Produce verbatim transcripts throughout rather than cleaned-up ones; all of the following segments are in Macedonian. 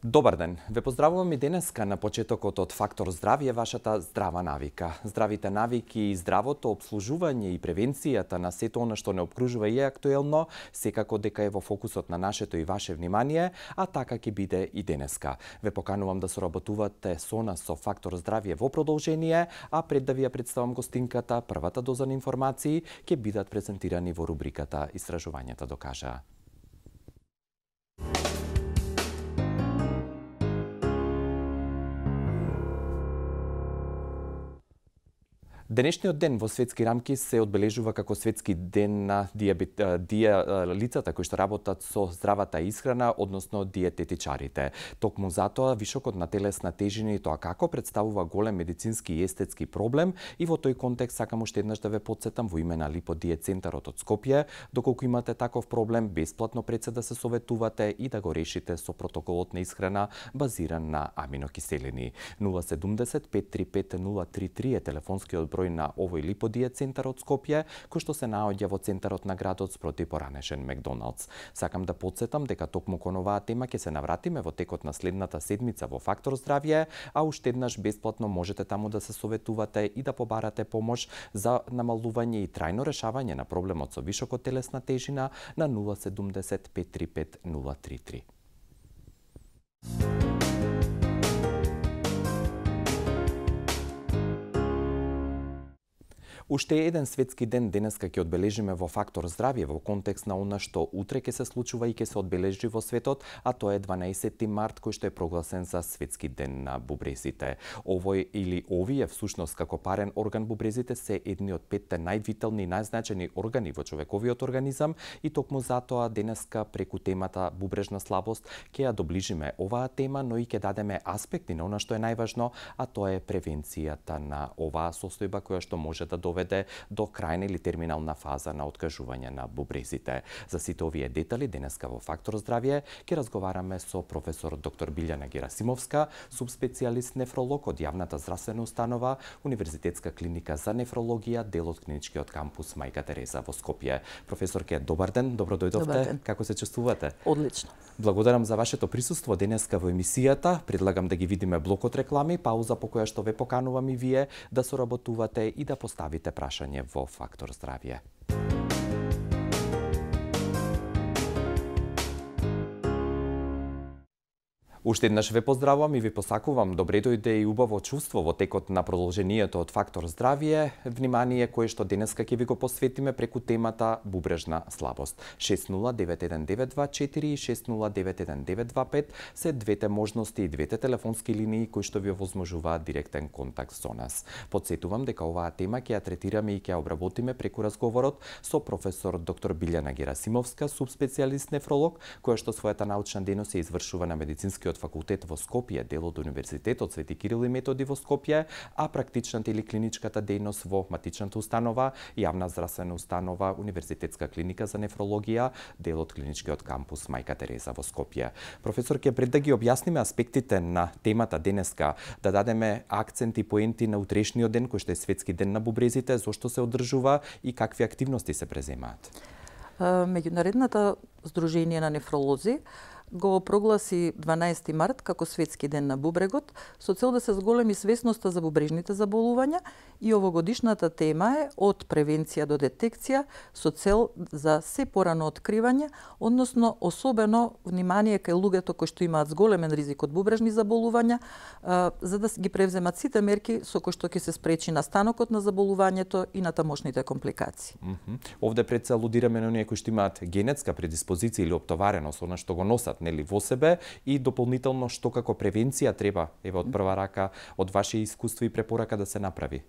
Добар ден. Ве поздравувам и денеска на почетокот од Фактор здравје, вашата здрава навика. Здравите навики и здравото обслужување и превенцијата на сето она што не обкружува и е актуелно, секако дека е во фокусот на нашето и ваше внимание, а така ќе биде и денеска. Ве поканувам да соработувате со нас со Фактор здравје во продолжение, а пред да ви ја представам гостинката, првата доза на информации ќе бидат презентирани во рубриката Истражувањата докажаа. Денешниот ден во светски рамки се одбележува како светски ден на диабет, дија, лицата кои што работат со здравата исхрана, односно диететичарите. Токму затоа вишокот на телесна тежина и тоа како представува голем медицински и естетски проблем, и во тој контекст сакам уште еднаш да ве потсетам во име на Липодиет центарот од Скопје, доколку имате таков проблем, бесплатно пред се да се советувате и да го решите со протоколот на исхрана базиран на аминокиселини. нула седумдесет пет три пет нула три три е телефонскиот број на овој Липодиет центар од Скопје, кој што се наоѓа во центарот на градот спроти поранешен Макдоналдс. Сакам да потсетам дека токму кон оваа тема ќе се навратиме во текот на следната седмица во Фактор здравје, а уште еднаш бесплатно можете таму да се советувате и да побарате помош за намалување и трајно решавање на проблемот со вишокот телесна тежина на нула седумдесет пет три пет нула три три. Уште еден светски ден денеска ќе одбележиме во Фактор здравје во контекст на она што утре ќе се случува и ќе се одбележи во светот, а тоа е дванаесетти март кој што е прогласен за светски ден на бубрезите. Овој или овие всушност како парен орган бубрезите се едни од петте највитални и најзначајни органи во човековиот организам, и токму затоа денеска преку темата бубрежна слабост ќе ја доближиме оваа тема, но и ќе дадеме аспекти на она што е најважно, а тоа е превенцијата на оваа состојба која што може да доведе до крајна или терминална фаза на откажување на бубрезите. За сите овие детали денеска во Фактор здравје ќе разговараме со професор доктор Билјана Герасимовска, субспецијалист нефролог од јавната здравствена установа Универзитетска клиника за нефрологија, дел од клиничкиот кампус Мајка Тереза во Скопје. Професорке, добар ден, добро дојдовте. Добар ден. Како се чувствувате? Одлично. Благодарам за вашето присуство денеска во емисијата. Предлагам да ги видиме блокот реклами, пауза по која што ве поканувам и вие да соработувате и да поставите прашање во Фактор здравје. Уште еднаш ве поздравувам и ви посакувам добре дојде и убаво чувство во текот на продолжението од Фактор здравје. Внимание кое што денеска ќе ви го посветиме преку темата бубрежна слабост. шест нула девет еден девет два четири и шест нула девет еден девет два пет се двете можности и двете телефонски линии кои што ви овозможуваат директен контакт со нас. Потсетувам дека оваа тема ќе ја третираме и ќе ја обработиме преку разговорот со професор доктор Билјана Герасимовска, субспецијалист нефролог, која што својата научна дејност се извршува на Медицинскиот факултет во Скопје, дел од Универзитетот Свети Кирил и Методи во Скопје, а практичната или клиничката дејност во матичната установа, јавна здравствена установа Универзитетска клиника за нефрологија, дел од клиничкиот кампус Мајка Тереза во Скопје. Професорке, пред да ги објасниме аспектите на темата денеска, да дадеме акценти поенти на утрешниот ден кој што е светски ден на бубрезите, зошто се одржува и какви активности се преземаат? Меѓународното здружение на нефролози го прогласи дванаесетти март како светски ден на бубрегот со цел да се зголеми свесноста за бубрежните заболувања, и овогодишната тема е од превенција до детекција со цел за се порано откривање, односно особено внимание кај луѓето кои што имаат зголемен ризик од бубрежни заболувања, за да ги превземат сите мерки со кои што ќе се спречи настанокот на заболувањето и на тамошните компликации. Mm -hmm. Овде пред се алудираме на оние кои што имаат генетска предиспозиција или оптовареност, она што го носат нели во себе, и дополнително што како превенција треба, еве од прва рака, од ваше искуство и препорака да се направи?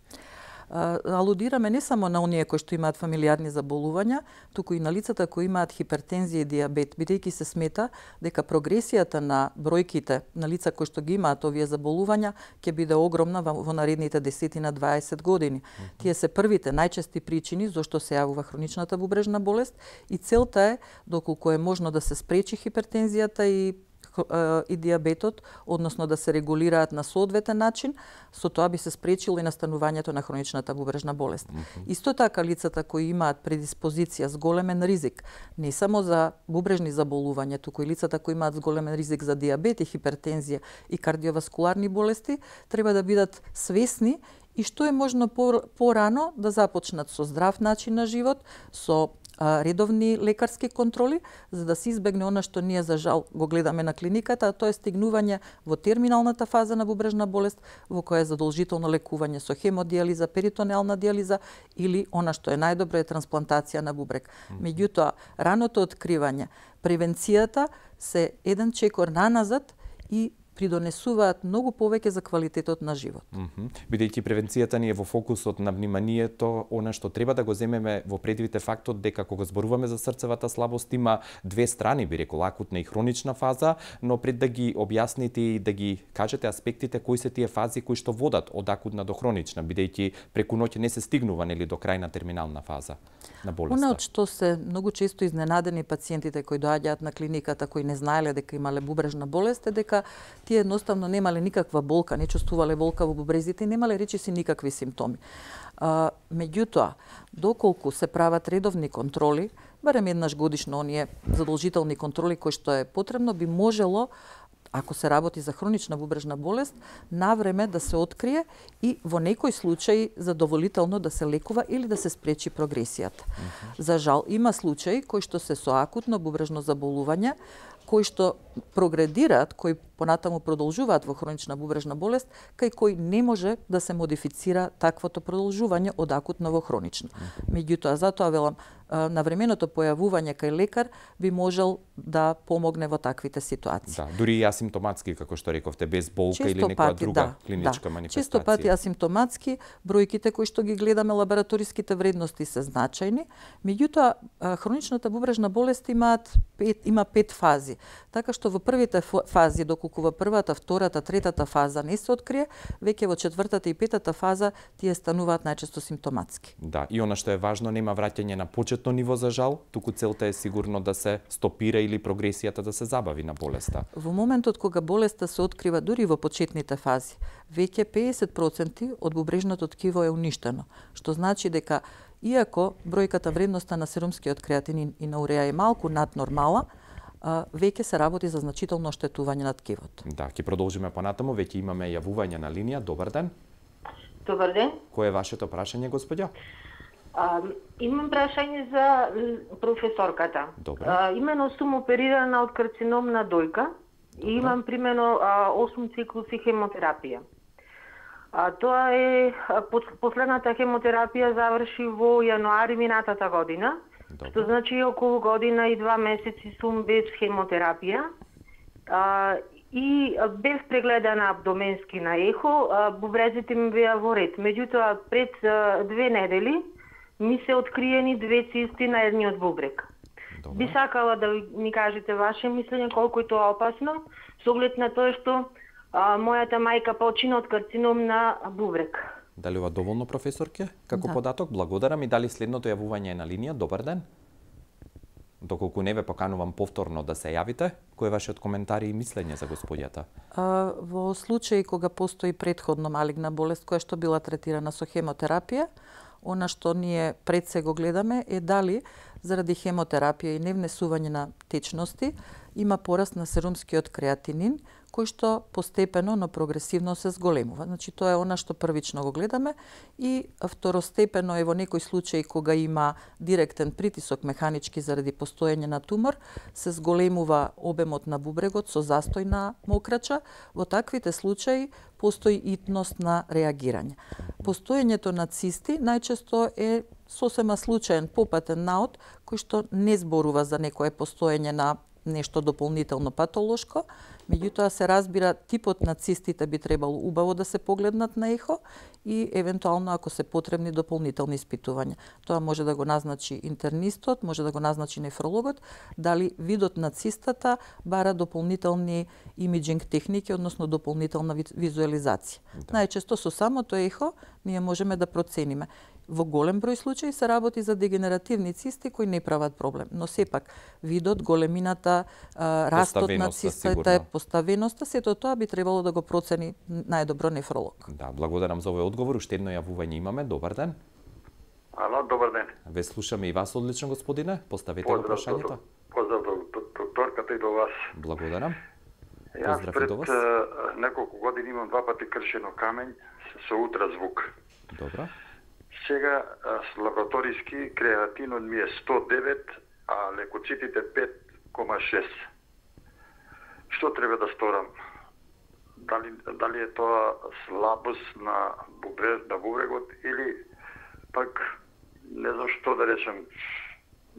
Алудираме не само на оние кои што имаат фамилиарни заболувања, туку и на лицата кои имаат хипертензија и диабет, бидејќи се смета дека прогресијата на бројките на лица кои што ги имаат овие заболувања ќе биде огромна во наредните десет на дваесет години. Mm -hmm. Тие се првите најчести причини зошто се јавува хроничната бубрежна болест, и целта е, доколку е можно да се спречи хипертензијата и и диабетот, односно да се регулираат на соодветен начин, со тоа би се спречило и настанувањето на хроничната бубрежна болест. Mm-hmm. Исто така лицата кои имаат предиспозиција с големен ризик, не само за бубрежни заболувања, туку и лицата кои имаат големен ризик за диабет и хипертензија и кардиоваскуларни болести, треба да бидат свесни и што е можно порано да започнат со здрав начин на живот, со редовни лекарски контроли, за да се избегне она што ние за жал го гледаме на клиниката, а тоа е стигнување во терминалната фаза на бубрежна болест, во која е задолжително лекување со хемодиализа, перитонеална диализа или она што е најдобро е трансплантација на бубрек. Меѓутоа, раното откривање, превенцијата се еден чекор наназад и придонесуваат многу повеќе за квалитетот на живот. Mm -hmm. Бидејќи превенцијата ни е во фокусот на вниманието, она што треба да го земеме во предвид е фактот дека кога зборуваме за срцевата слабост има две страни, би рекол, акутна и хронична фаза, но пред да ги објасните и да ги кажете аспектите кои се тие фази кои што водат од акутна до хронична, бидејќи преку ноќ не се стигнува нели до крајна терминална фаза на болеста. Она од што се многу често изненадени пациентите кои доаѓаат на клиниката, кои не знаеле дека имале бубрежна болест, е дека тие едноставно немале никаква болка, не чувствувале болка во бубрезите и немале речиси никакви симптоми. А, меѓутоа, доколку се прават редовни контроли, барем еднаш годишно оние задолжителни контроли кои што е потребно, би можело, ако се работи за хронична бубрежна болест, навреме да се открие и во некој случај задоволително да се лекува или да се спречи прогресијата. Mm-hmm. За жал, има случаи кои што се со акутно бубрежно заболување, кои што прогредираат, кои понатаму продолжуваат во хронична бубрежна болест, кај кој не може да се модифицира таквото продолжување од акутно во хронично. Меѓутоа, затоа велам, навременото појавување кај лекар би можел да помогне во таквите ситуации. Да, дури и асимптоматски, како што рековте, без болка често или некоја пати, друга да, клиничка да. манифестација. Често пати асимптоматски, бројките кои што ги гледаме, лабораториските вредности се значајни, меѓутоа хроничната бубрежна болест имаат пет, има пет фази. Така што во првите фази, доколку во првата, втората, третата фаза не се открие, веќе во четвртата и петата фаза тие стануваат најчесто симптоматски. Да, и она што е важно, нема враќање на почетно ниво за жал, туку целта е сигурно да се стопира или прогресијата да се забави на болеста. Во моментот кога болеста се открива дури во почетните фази, веќе педесет проценти од бубрежното ткиво е уништено, што значи дека иако бројката вредноста на серумскиот креатинин и на уреа е малку над нормала, веќе се работи за значително оштетување на ткивото. Да, ќе продолжиме понатаму, веќе имаме јавување на линија. Добар ден. Добар ден. Кој е вашето прашање, господја? А, имам прашање за професорката. Добре. А, имено сум оперирана од карцином на дојка. Добре. И имам примено осум циклуси хемотерапија. А, тоа е последната хемотерапија заврши во јануари минатата година. Добре. Што значи околу година и два месеци сум без хемотерапија а, и без прегледана абдоменски на ехо, а, бубрезите ми беа во ред. Меѓутоа, пред а, две недели ми се откриени две цисти на едниот бубрек. Добре. Би сакала да ми кажете ваше мислење колку е тоа опасно, со оглед на тоа што а, мојата мајка почина од карцином на бубрек. Дали ова доволно, професорке? Како да. Податок, благодарам и дали следното јавување е на линија. Добар ден. Доколку не ве поканувам повторно да се јавите, кој е вашиот коментар и мислење за господјата? А, во случај кога постои претходно малигна болест која што била третирана со хемотерапија, она што ние пред се го гледаме е дали заради хемотерапија и невнесување на течности има пораст на серумскиот креатинин, кој што постепено, но прогресивно се зголемува. Значи, тоа е она што првично го гледаме и второстепено е во некој случај кога има директен притисок механички заради постоење на тумор, се зголемува обемот на бубрегот со застој на мокрача. Во таквите случаи постои итност на реагирање. Постоењето на цисти најчесто е сосема случаен попатен наод кој што не зборува за некое постоење на нешто дополнително патолошко, меѓутоа се разбира типот на цистите би требало убаво да се погледнат на ехо и евентуално ако се потребни дополнителни испитувања. Тоа може да го назначи интернистот, може да го назначи нефрологот, дали видот на цистата бара дополнителни имиджинг техники, односно дополнителна визуализација. Да. Најчесто со самото ехо ние можеме да процениме. Во голем број случаи се работи за дегенеративни цисти кои не прават проблем, но сепак видот, големината, растот на цистата, поставеноста, сето тоа би требало да го процени најдобро нефролог. Да, благодарам за овој одговор. Уште едно јавување имаме. Добар ден. Ало, добар ден. Ве слушаме и вас одлично, господине. Поставете го прашањето. Поздрав до докторката и до вас. Благодарам. Јас пред неколку години имам два пати кршено камењ со ултразвук. Добро. Сега с лабораториски креатинот ми е сто девет, а лекоцитите пет кома шест. Што треба да сторам? Дали, дали е тоа слабост на, бубре, на бубрегот или пак не знам што да речем,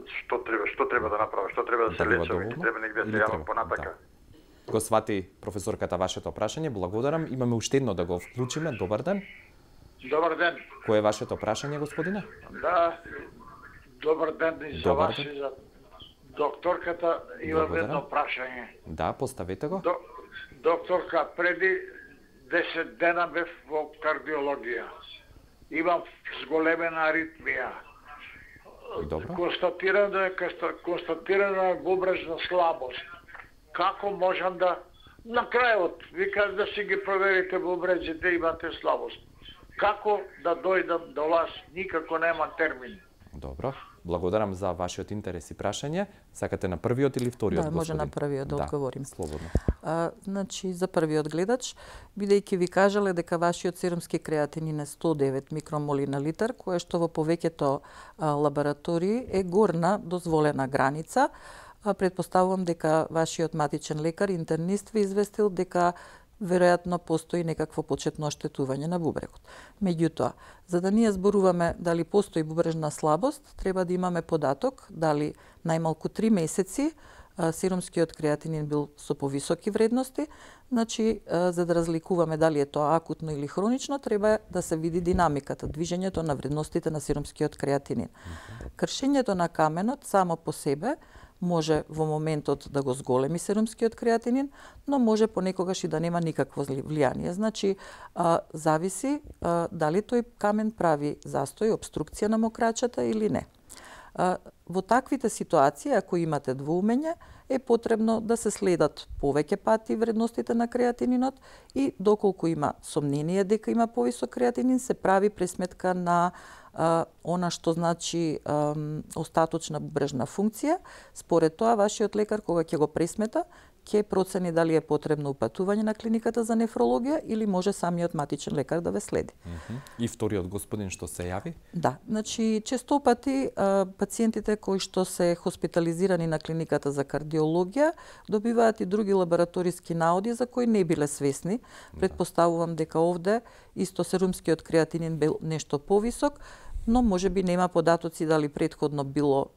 што треба, што треба да направам, што треба да се лечам, или треба негде да се јавам понатака. Да. Го свати професорката вашето прашање, благодарам. Имаме уште едно да го вклучиме. Добар ден. Добар ден. Кој е вашето прашање, господине? Да, добар ден и за добар вас ден. и за докторката. Имам едно прашање. Да, поставете го. До, докторка, преди десет дена бев во кардиологија. Имам зголемена аритмија. Добро. Констатирано е констатирана е бубрежна слабост. Како можам да на крајот викаш да си ги проверите бубрежите, имате слабост. Како да дојдам до вас? Никако нема термин. Добро. Благодарам за вашиот интерес и прашање. Сакате на првиот или вториот, да, господин? може на првиот да, да одговорим. Слободно. А, значи, за првиот гледач, бидејќи ви кажале дека вашиот серумски креатинин е сто девет микромоли на литар, кое што во повеќето а, лаборатории е горна дозволена граница, а, предпоставувам дека вашиот матичен лекар, интернист, ви известил дека веројатно постои некакво почетно оштетување на бубрегот. Меѓутоа, за да ние зборуваме дали постои бубрежна слабост, треба да имаме податок дали најмалку три месеци серумскиот креатинин бил со повисоки вредности, значи за да разликуваме дали е тоа акутно или хронично, треба да се види динамиката, движењето на вредностите на серумскиот креатинин. Кршењето на каменот само по себе може во моментот да го зголеми серумскиот креатинин, но може понекогаш и да нема никакво влијание. Значи, а, зависи а, дали тој камен прави застој, обструкција на мокрачата или не. А, во таквите ситуации, ако имате двоумење, е потребно да се следат повеќе пати вредностите на креатининот и доколку има сомнение дека има повисок креатинин, се прави пресметка на а, она што значи а, остаточна бубрежна функција. Според тоа, вашиот лекар, кога ќе го пресмета, ќе процени дали е потребно упатување на клиниката за нефрологија или може самиот матичен лекар да ве следи. Uh-huh. И вториот господин што се јави? Да, значи често пати а, пациентите кои што се хоспитализирани на клиниката за кардиологија добиваат и други лабораториски наоди за кои не биле свесни. Предпоставувам дека овде исто серумскиот креатинин бил нешто повисок, но можеби нема податоци дали претходно било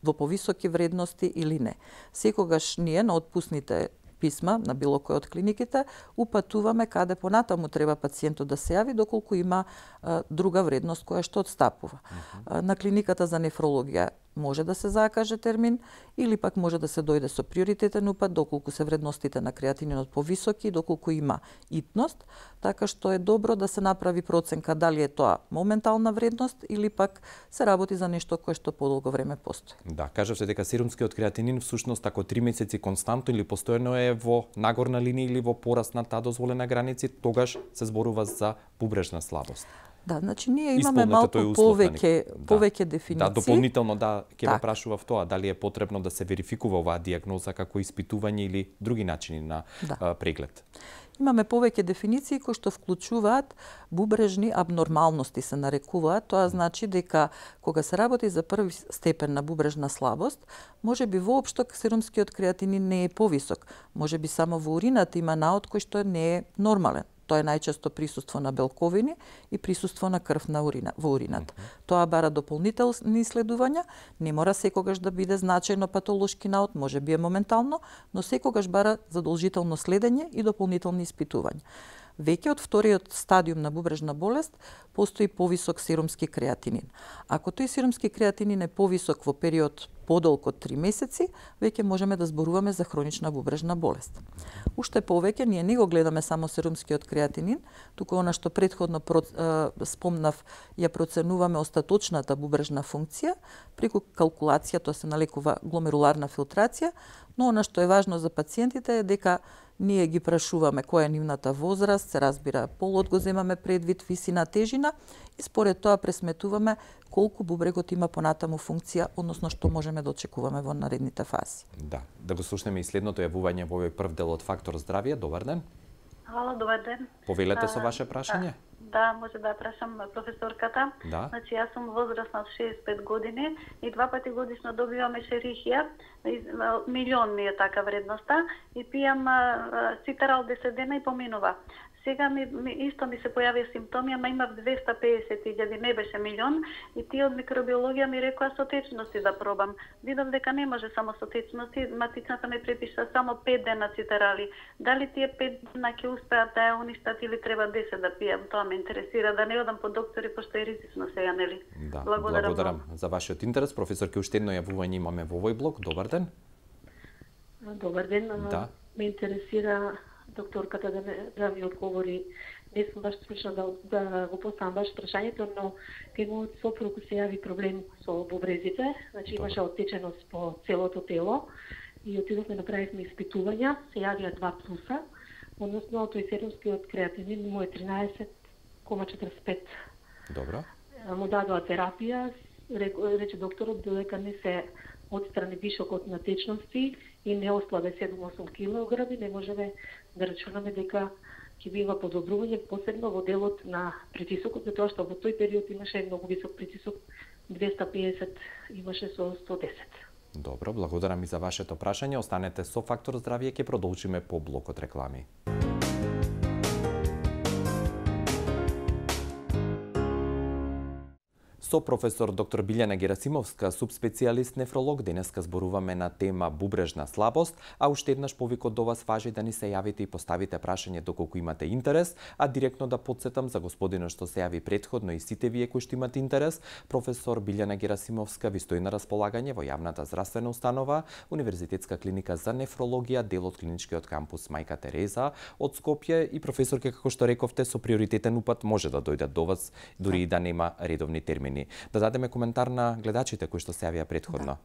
во повисоки вредности или не. Секогаш ние на отпусните писма на било кој од клиниките упатуваме каде понатаму треба пациентот да се јави доколку има а, друга вредност која што отстапува. Uh-huh. На клиниката за нефрологија може да се закаже термин или пак може да се дојде со приоритетен упат доколку се вредностите на креатининот повисоки, доколку има итност, така што е добро да се направи проценка дали е тоа моментална вредност или пак се работи за нешто кое што подолго време постои. Да, кажавте дека серумскиот креатинин всушност ако три месеци константно или постојано е во нагорна линија или во пораст на таа дозволена граници, тогаш се зборува за бубрежна слабост. Да, значи ние имаме малку повеќе да, повеќе дефиниции. Да, дополнително да ќе ве прашував тоа дали е потребно да се верификува оваа дијагноза како испитување или други начини на да. а, преглед. Имаме повеќе дефиниции кои што вклучуваат бубрежни абнормалности се нарекуваат. Тоа значи дека кога се работи за први степен на бубрежна слабост, можеби воопшто серумскиот креатинин не е повисок. Можеби само во урината има наод кој што не е нормален. Тоа е најчесто присуство на белковини и присуство на крв на урина, во урината. Mm-hmm. Тоа бара дополнителни исследувања, не мора секогаш да биде значајно патолошки наод, може би е моментално, но секогаш бара задолжително следење и дополнителни испитувања. Веќе од вториот стадиум на бубрежна болест постои повисок серумски креатинин. Ако тој серумски креатинин е повисок во период подолг од три месеци, веќе можеме да зборуваме за хронична бубрежна болест. Уште повеќе, ние не го гледаме само серумскиот креатинин, туку она што претходно спомнав, ја проценуваме остаточната бубрежна функција, преку калкулација, тоа се налекува гломеруларна филтрација, но она што е важно за пациентите е дека ние ги прашуваме која е нивната возраст, се разбира полот го земаме предвид, висина, тежина и според тоа пресметуваме колку бубрегот има понатаму функција, односно што можеме да очекуваме во наредните фази. Да, да го слушнеме и следното јавување во овој прв дел од Фактор здравје. Добар ден. Ало, добар ден. Повелете со ваше прашање? Да, може да прашам професорката. Да. Значи, јас сум возрастна од шеесет и пет години и два пати годишно добивам ешерихија, милион ми е така вредноста и пијам цитарал десет дена и поминува. Сега ми, ми исто ми се појави симптоми, ама имав двеста педесет илјади, не беше милион, и тие од микробиологија ми рекоа со течности да пробам. Видов дека не може само со течности, матичната ми препиша само пет дена цитарали. Дали тие пет дена ќе успеат да ја уништат или треба десет да пијам? Тоа ме интересира, да не одам по доктори, пошто е ризично сега, нели? Да, благодарам, благодарам за вашиот интерес. Професорке, уште едно јавување имаме во овој блок. Добар ден. Добар ден. Да. Ме интересира докторката да, ме, да ми одговори. Не сум баш случна да, да го поставам баш прашањето, но кај мојот сопруг се јави проблем со бубрезите, значи имаше оттеченост по целото тело и отидовме, направивме испитувања, се јавија два плюса, односно тој серумскиот креатинин му е тринаесет кома четиридесет и пет. Добро. Му дадоа терапија, рече докторот додека не се отстрани вишокот на течности и не ослабе седум до осум килограми, не можеме да рачунаме дека ќе бива подобрување, посебно во делот на притисокот, затоа што во тој период имаше многу висок притисок, двеста педесет имаше со сто десет. Добро, благодарам и за вашето прашање. Останете со Фактор здравје, ќе продолжиме по блокот реклами. Со професор доктор Билјана Герасимовска, субспецијалист нефролог, денеска зборуваме на тема бубрежна слабост, а уште еднаш повикот до вас важи да ни се јавите и поставите прашање доколку имате интерес, а директно да потсетам за господинот што се јави претходно и сите вие кои што имате интерес, професор Билјана Герасимовска ви стои на располагање во јавната здравствена установа, Универзитетска клиника за нефрологија, дел од клиничкиот кампус Мајка Тереза од Скопје, и професорке, како што рековте, со приоритетен упат може да дојдат до вас, дури и да нема редовни термини. Да дадеме коментар на гледачите кои што се јавија претходно.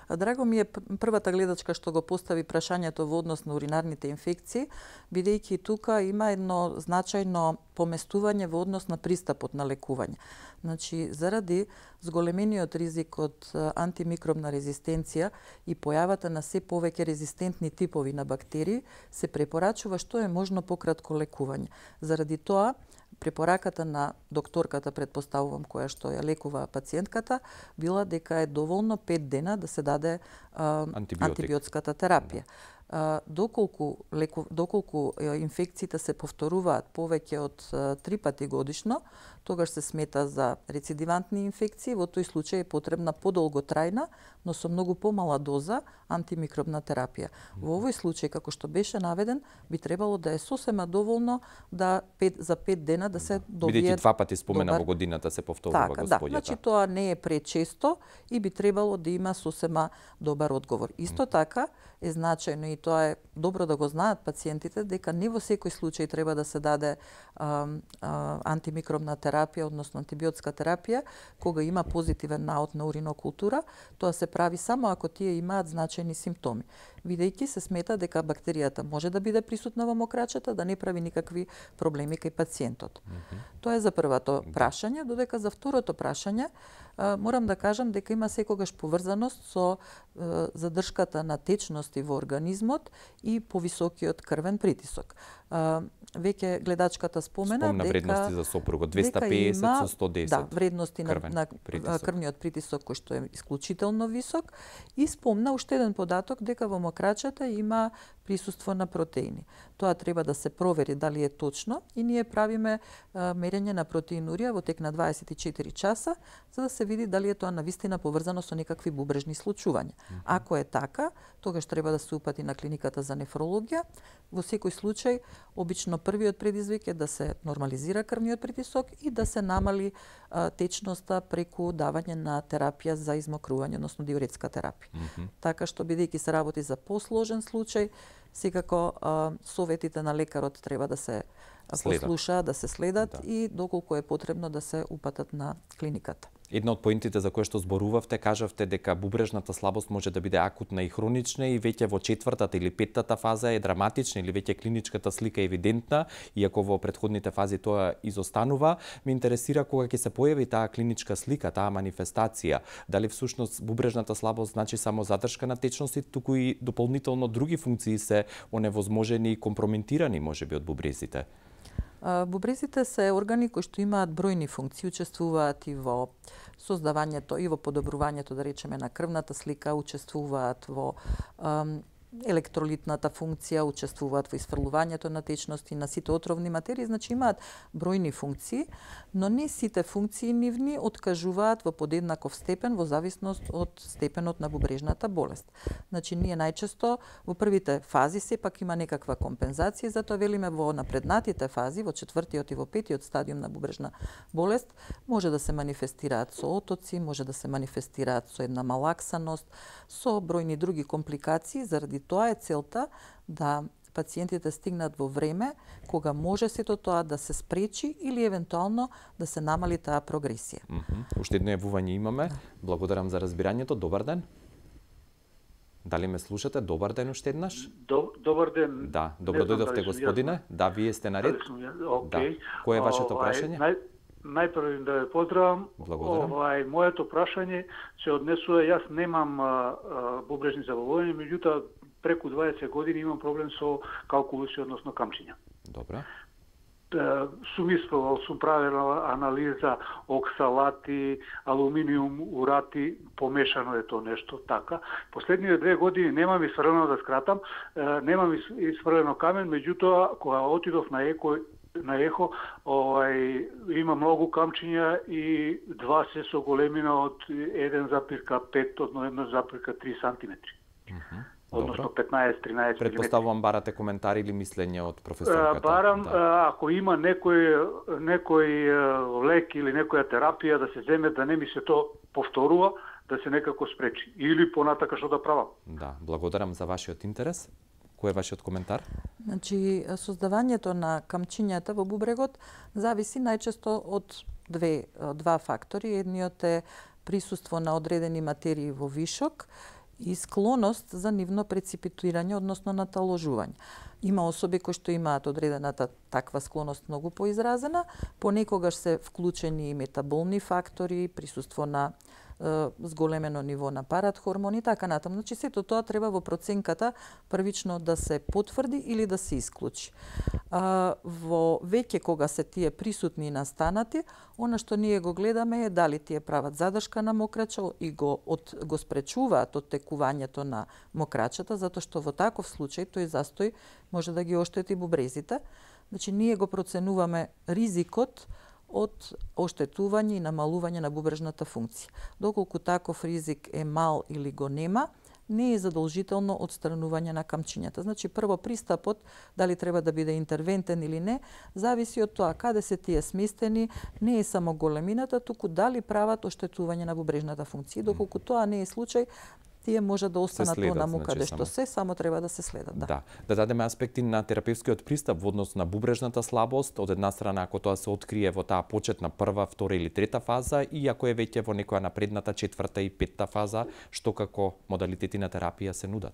Да. Драго ми е првата гледачка што го постави прашањето во однос на уринарните инфекции, бидејќи тука има едно значајно поместување во однос на пристапот на лекување. Значи, заради зголемениот ризик од антимикробна резистенција и појавата на се повеќе резистентни типови на бактерии, се препорачува што е можно пократко лекување. Заради тоа, препораката на докторката, предпоставувам, која што ја лекува пациентката, била дека е доволно пет дена да се даде а, антибиотската терапија. А, доколку, леку, доколку инфекциите се повторуваат повеќе од а, три пати годишно, тогаш се смета за рецидивантни инфекции, во тој случај е потребна подолготрајна, но со многу помала доза антимикробна терапија. Во овој случај, како што беше наведен, би требало да е сосема доволно да пет, за пет дена да се добие. Бидејќи два пати спомена добар... во годината се повторува, така, господјата. Да, значи тоа не е пречесто и би требало да има сосема добар одговор. Исто така е значајно, и тоа е добро да го знаат пациентите, дека не во секој случај треба да се даде а, а, антимикробна терапија, односно антибиотска терапија, кога има позитивен наод на уринокултура. Тоа се прави само ако тие имаат значајни симптоми, бидејќи се смета дека бактеријата може да биде присутна во мокрачата, да не прави никакви проблеми кај пациентот. Mm-hmm. Тоа е за првото прашање, додека за второто прашање морам да кажам дека има секогаш поврзаност со задршката на течности во организмот и повисокиот крвен притисок. Веќе гледачката спомена Спомна дека вредности за сопругот двеста педесет има, со сто десет. Да, вредности крвен на, на притисок. крвниот притисок кој што е исклучително висок, и спомна уште еден податок дека во мокрачата има присуство на протеини. Тоа треба да се провери дали е точно и ние правиме а, мерење на протеинурија во тек на дваесет и четири часа за да се види дали е тоа навистина поврзано со некакви бубрежни случувања. Mm-hmm. Ако е така, тогаш треба да се упати на клиниката за нефрологија. Во секој случај Обично првиот предизвик е да се нормализира крвниот притисок и да се намали а, течноста преку давање на терапија за измокрување, односно диуретска терапија. Mm -hmm. Така што бидејќи се работи за посложен случај, секако а, советите на лекарот треба да се следат. послушаат, да се следат да. И доколку е потребно да се упатат на клиниката. Една од поинтите за кои што зборувавте, кажавте дека бубрежната слабост може да биде акутна и хронична и веќе во четвртата или петтата фаза е драматична или веќе клиничката слика е евидентна, иако во претходните фази тоа изостанува. Ме интересира кога ќе се појави таа клиничка слика, таа манифестација, дали всушност бубрежната слабост значи само задршка на течност, туку и дополнително други функции се оневозможени и компрометирани можеби од бубрезите? Бубрезите се органи кои што имаат бројни функции, учествуваат и во создавањето и во подобрувањето, да речеме, на крвната слика, учествуваат во ам, електролитната функција, учествуваат во исфрлувањето на течности, на сите отровни материи, значи имаат бројни функции, но не сите функции нивни откажуваат во подеднаков степен во зависност од степенот на бубрежната болест. Значи ние најчесто во првите фази сепак има некаква компензација, затоа велиме во напреднатите фази, во четвртиот и во петиот стадиум на бубрежна болест, може да се манифестираат со отоци, може да се манифестираат со една малаксаност, со бројни други компликации. Заради тоа е целта да пациентите стигнат во време кога може сето тоа да се спречи или евентуално да се намали таа прогресија. Mm -hmm. Уште едно јавување имаме. Благодарам за разбирањето. Добар ден. Дали ме слушате? Добар ден уште еднаш. Добар ден. Да, добро дојдовте, господине. Да, вие сте наред. Okay. Да. Кој е вашето прашање? Нај... Најпрво да ве поздравам. Благодарам. Овај моето прашање се однесува, јас немам а, а, бубрежни заболувања, меѓутоа преку дваесет години имам проблем со калкулуси, односно камчиња. Добра. Сум испробувал, сум правил анализа оксалати, алуминиум, урати, помешано е тоа нешто така. Последниве две години немам исфрлено, да скратам, немам исфрлено камен, меѓутоа кога отидов на еко на ехо, овај има многу камчиња и два се со големина од еден запирка пет од еден запирка три сантиметри. Mm -hmm. Односно петнаесет тринаесет милиметри. Предпоставувам барате коментари или мислење од професорката. Барам, да. Ако има некој некој лек или некоја терапија да се земе, да не ми се то повторува, да се некако спречи. Или понатака што да правам. Да, благодарам за вашиот интерес. Кој е вашиот коментар? Значи, создавањето на камчињата во бубрегот зависи најчесто од две, два фактори. Едниот е присуство на одредени материи во вишок и склоност за нивно преципитирање, односно наталожување. Има особи кои што имаат одредената таква склоност многу поизразена, понекогаш се вклучени и метаболни фактори, присуство на зголемено ниво на паратхормони и така натаму. Значи сето тоа треба во проценката првично да се потврди или да се исклучи. А, во веќе кога се тие присутни и настанати, она што ние го гледаме е дали тие прават задршка на мокрача и го од го спречуваат од текувањето на мокрачата, затоа што во таков случај тој застој може да ги оштети бубрезите. Значи ние го проценуваме ризикот од оштетување и намалување на бубрежната функција. Доколку таков ризик е мал или го нема, не е задолжително одстранување на камчињата. Значи прво пристапот, дали треба да биде интервентен или не, зависи од тоа каде се тие сместени, не е само големината, туку дали прават оштетување на бубрежната функција. Доколку тоа не е случај, тие може да останат онаму каде значи, што се, само треба да се следат. Да. да. Да дадеме аспекти на терапевскиот пристап во однос на бубрежната слабост, од една страна ако тоа се открие во таа почетна прва, втора или трета фаза и ако е веќе во некоја напредната четврта и петта фаза, што како модалитети на терапија се нудат?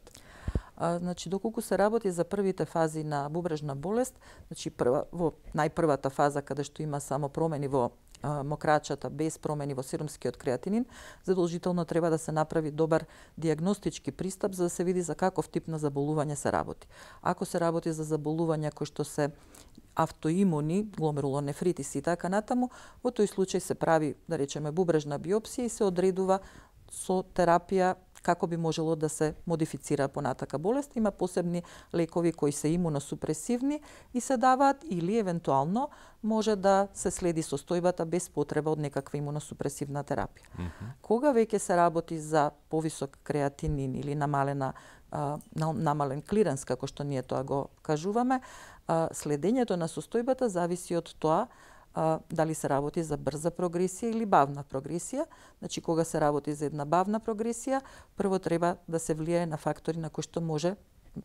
А, значи, доколку се работи за првите фази на бубрежна болест, значи прва, во најпрвата фаза каде што има само промени во мокрачата без промени во серумскиот креатинин, задолжително треба да се направи добар диагностички пристап за да се види за каков тип на заболување се работи. Ако се работи за заболувања кои што се автоимуни, гломерулонефритис и така натаму, во тој случај се прави, да речеме, бубрежна биопсија и се одредува со терапија како би можело да се модифицира понатака болест. Има посебни лекови кои се имуносупресивни и се даваат или евентуално може да се следи состојбата без потреба од некаква имуносупресивна терапија. Mm -hmm. Кога веќе се работи за повисок креатинин или намалена а, намален клиренс, како што ние тоа го кажуваме, а, следењето на состојбата зависи од тоа а, дали се работи за брза прогресија или бавна прогресија. Значи, кога се работи за една бавна прогресија, прво треба да се влијае на фактори на кои што може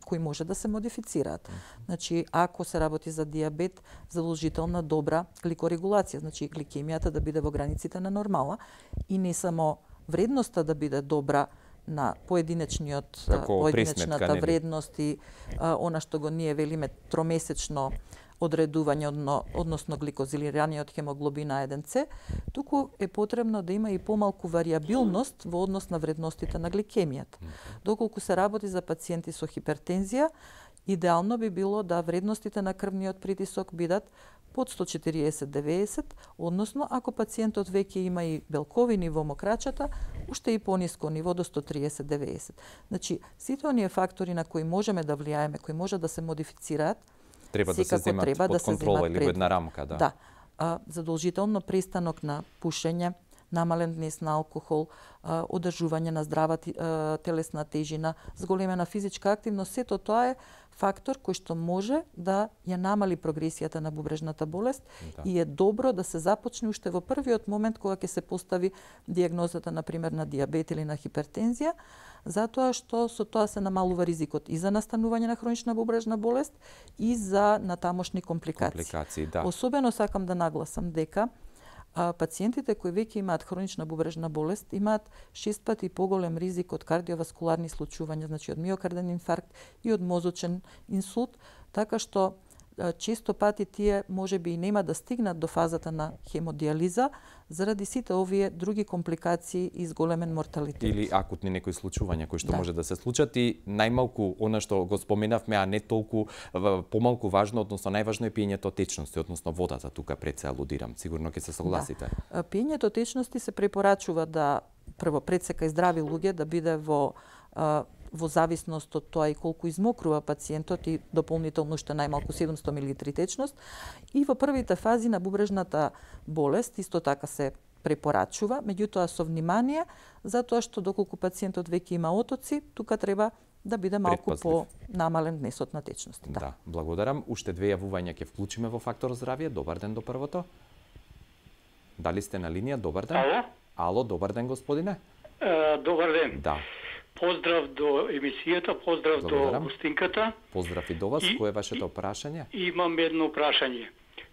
кои може да се модифицираат. Значи, ако се работи за диабет, задолжителна добра гликорегулација, значи гликемијата да биде во границите на нормала и не само вредноста да биде добра на поединечниот Како поединечната пресметка, вредност и а, она што го ние велиме тромесечно одредување, одно, односно гликозилирање од хемоглобина еден С, туку е потребно да има и помалку варијабилност во однос на вредностите на гликемијата. Доколку се работи за пациенти со хипертензија, идеално би било да вредностите на крвниот притисок бидат под сто четириесет деведесет, односно ако пациентот веќе има и белковини во мокрачата, уште и пониско ниво до сто триесет деведесет. Значи, сите оние фактори на кои можеме да влијаеме, кои може да се модифицираат, треба да се земат треба под да се контрола земат или во една рамка, да. Да. А, задолжително престанок на пушење, намален внес на алкохол, а, одржување на здрава а, телесна тежина, зголемена физичка активност, сето тоа е фактор кој што може да ја намали прогресијата на бубрежната болест, да. И е добро да се започне уште во првиот момент кога ќе се постави дијагнозата, например, на диабет или на хипертензија, затоа што со тоа се намалува ризикот и за настанување на хронична бубрежна болест и за натамошни компликации. Компликации, да. Особено сакам да нагласам дека а, пациентите кои веќе имаат хронична бубрежна болест имаат шест пати поголем ризик од кардиоваскуларни случувања, значи од миокарден инфаркт и од мозочен инсулт, така што често пати тие можеби и нема да стигнат до фазата на хемодиализа заради сите овие други компликации и зголемен морталитет. Или акутни некои случувања кои што Да. може да се случат и најмалку она што го споменавме, а не толку помалку важно, односно најважно е пиењето течности, односно водата, тука пред се алудирам. Сигурно ќе се согласите. Да. Пиењето течности се препорачува да прво пред се кај здрави луѓе да биде во во зависност од тоа и колку измокрува пациентот и дополнително уште најмалку седумсто милилитри течност. И во првите фази на бубрежната болест исто така се препорачува, меѓутоа со внимание, затоа што доколку пациентот веќе има отоци, тука треба да биде малку Предпазлив. по-намален внесот на течности. Да. Да, благодарам. Уште две јавувања ќе вклучиме во Фактор здравје. Добар ден до првото. Дали сте на линија? Добар ден. Ало? Ало, добар ден, господине. Е, добар ден. Да. Поздрав до емисијата, поздрав Благодарам. до гостинката. Поздрав и до вас. И- Кое е вашето прашање? Имам едно прашање.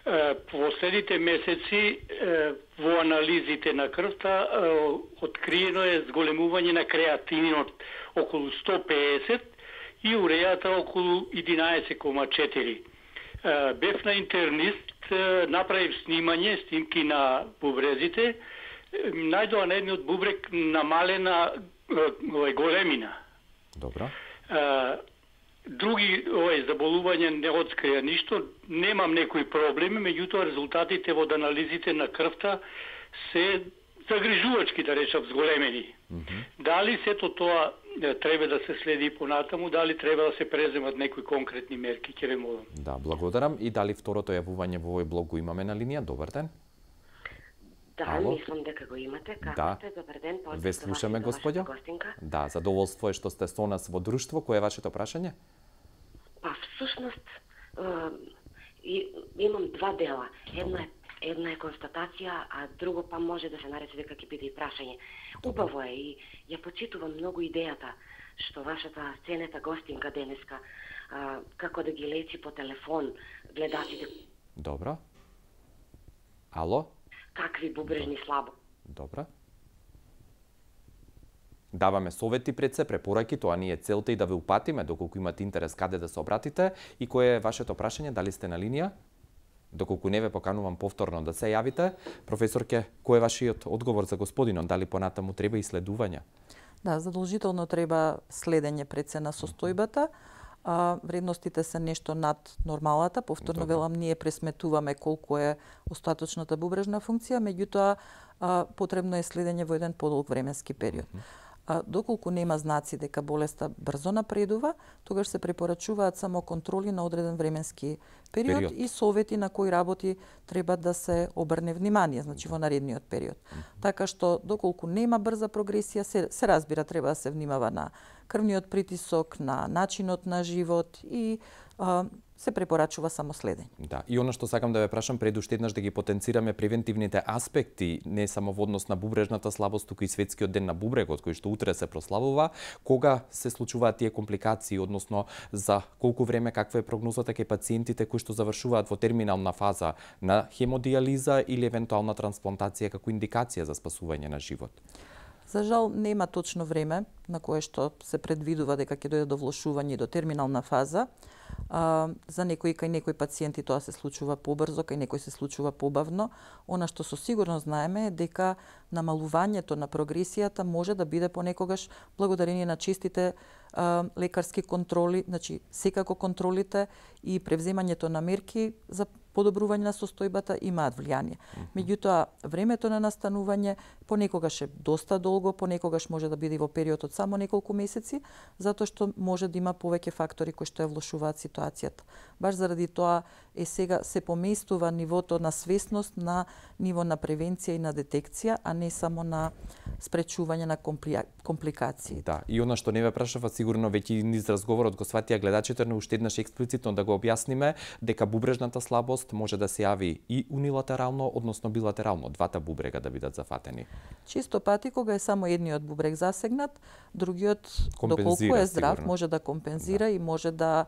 Е, Последните месеци е, во анализите на крвта е, откриено е зголемување на креатининот околу сто педесет и урејата околу единаесет кома четири. Е, Бев на интернист, е, направив снимање, снимки на бубрезите, е, најдоа на едниот бубрек намалена е, овај големина. Добро. А, други овај заболувања не открија ништо, немам некои проблеми, меѓутоа резултатите од анализите на крвта се загрижувачки, да речам, зголемени. Mm -hmm. Дали сето тоа е, треба да се следи и понатаму, дали треба да се преземат некои конкретни мерки, ќе ве молам. Да, благодарам. И дали второто јавување во овој блог го имаме на линија? Добар ден. Да, Ало? мислам дека го имате. Како Да. сте? Добар ден. Поздрав Ве за вас слушаме, и за вашата господјо. гостинка. Да, задоволство е што сте со нас во друштво. Кое е вашето прашање? Па всушност е, и, имам два дела. Една е една е констатација, а друго па може да се нарече дека ќе биде и прашање. Убаво е и ја почитувам многу идејата што вашата ценета гостинка денеска а, како да ги лечи по телефон гледачите Добро. Ало? какви бубрежни слабо. Добро. Даваме совети пред се, препораки, тоа ни е целта и да ве упатиме доколку имате интерес каде да се обратите. И кое е вашето прашање? Дали сте на линија? Доколку не ве поканувам повторно да се јавите. Професорке, кој е вашиот одговор за господинот? Дали понатаму треба исследувања? Да, задолжително треба следење пред се на состојбата. А, вредностите се нешто над нормалата. Повторно Добре. велам, ние пресметуваме колку е остаточната бубрежна функција, меѓутоа а, потребно е следење во еден подолг временски период. А, доколку нема знаци дека болеста брзо напредува, тогаш се препорачуваат само контроли на одреден временски период, Период. и совети на кои работи треба да се обрне внимание, значи во наредниот период. Така што доколку нема брза прогресија, се, се разбира треба да се внимава на крвниот притисок, на начинот на живот и а, се препорачува само следење. Да, и она што сакам да ве прашам пред уште еднаш да ги потенцираме превентивните аспекти, не само во однос на бубрежната слабост, туку и светскиот ден на бубрегот, кој што утре се прославува, кога се случуваат тие компликации, односно за колку време, каква е прогнозата кај пациентите кои што завршуваат во терминална фаза на хемодиализа или евентуална трансплантација како индикација за спасување на живот? За жал нема точно време на кое што се предвидува дека ќе дојде до влошување и до терминална фаза. А, за некои кај некои пациенти тоа се случува побрзо, кај некои се случува побавно. Она што со сигурност знаеме е дека намалувањето на прогресијата може да биде понекогаш благодарение на честите а, лекарски контроли, значи секако контролите и превземањето на мерки за подобрување на состојбата имаат влијание. Меѓутоа, времето на настанување понекогаш е доста долго, понекогаш може да биде во период од само неколку месеци, затоа што може да има повеќе фактори кои што ја влошуваат ситуацијата. Баш заради тоа е сега се поместува нивото на свесност на ниво на превенција и на детекција, а не само на спречување на компликации. Да, и она што не ве прашава, сигурно веќе низ разговорот го сватија гледачите, но уште еднаш експлицитно да го објасниме дека бубрежната слабост може да се јави и унилатерално, односно билатерално, двата бубрега да бидат зафатени. Често пати кога е само едниот бубрег засегнат, другиот доколку е здрав сигурно може да компензира да. И може да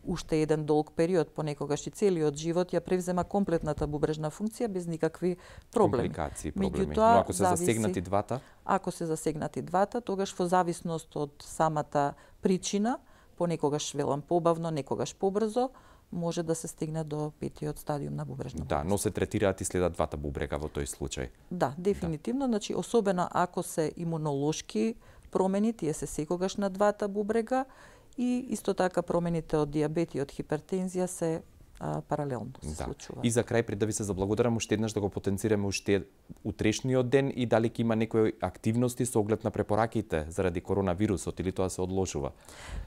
уште еден долг период, понекогаш и целиот живот ја превзема комплетната бубрежна функција без никакви проблеми. Компликации, проблеми. Меѓутоа, но ако се зависи, засегнати двата? Ако се засегнати двата, тогаш во зависност од самата причина, понекогаш велам побавно, некогаш побрзо, може да се стигне до петиот стадиум на бубрежна болест. Да, но се третираат и следат двата бубрега во тој случај. Да, дефинитивно, да. Значи особено ако се имунолошки промени, тие се секогаш на двата бубрега и исто така промените од дијабет и од хипертензија се а, паралелно се да. случува. И за крај, пред да ви се заблагодарам уште еднаш да го потенцираме уште утрешниот ден и дали ќе има некои активности со оглед на препораките заради коронавирусот или тоа се одложува?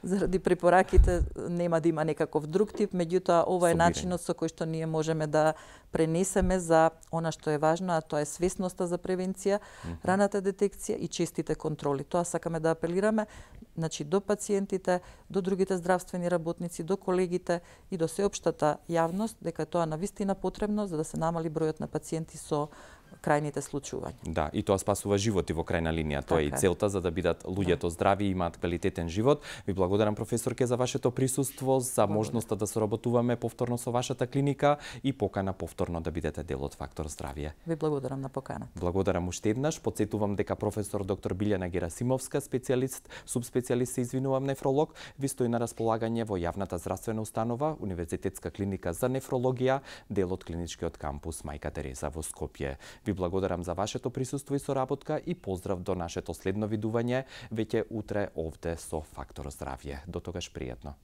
Заради препораките нема да има некаков друг тип, меѓутоа ова е начинот со кој што ние можеме да пренесеме за она што е важно, а тоа е свесноста за превенција, mm-hmm. раната детекција и честите контроли. Тоа сакаме да апелираме, значи до пациентите, до другите здравствени работници, до колегите и до сеопштата јавност дека тоа навистина потребно за да се намали бројот на пациенти со крајните случувања. Да, и тоа спасува животи во крајна линија. Тоа е и целта за да бидат луѓето да. здрави и имаат квалитетен живот. Ви благодарам, професорке, за вашето присуство, за благодарам. можноста да соработуваме повторно со вашата клиника и покана повторно да бидете дел од Фактор здравје. Ви благодарам на покана. Благодарам уште еднаш. Потсетувам дека професор доктор Билјана Герасимовска, специјалист, субспецијалист, се извинувам, нефролог, ви стои на располагање во јавната здравствена установа Универзитетска клиника за нефрологија, дел од клиничкиот кампус Мајка Тереза во Скопје. Ви благодарам за вашето присуство и соработка и поздрав до нашето следно видување веќе утре овде со Фактор здравје. До тогаш пријатно.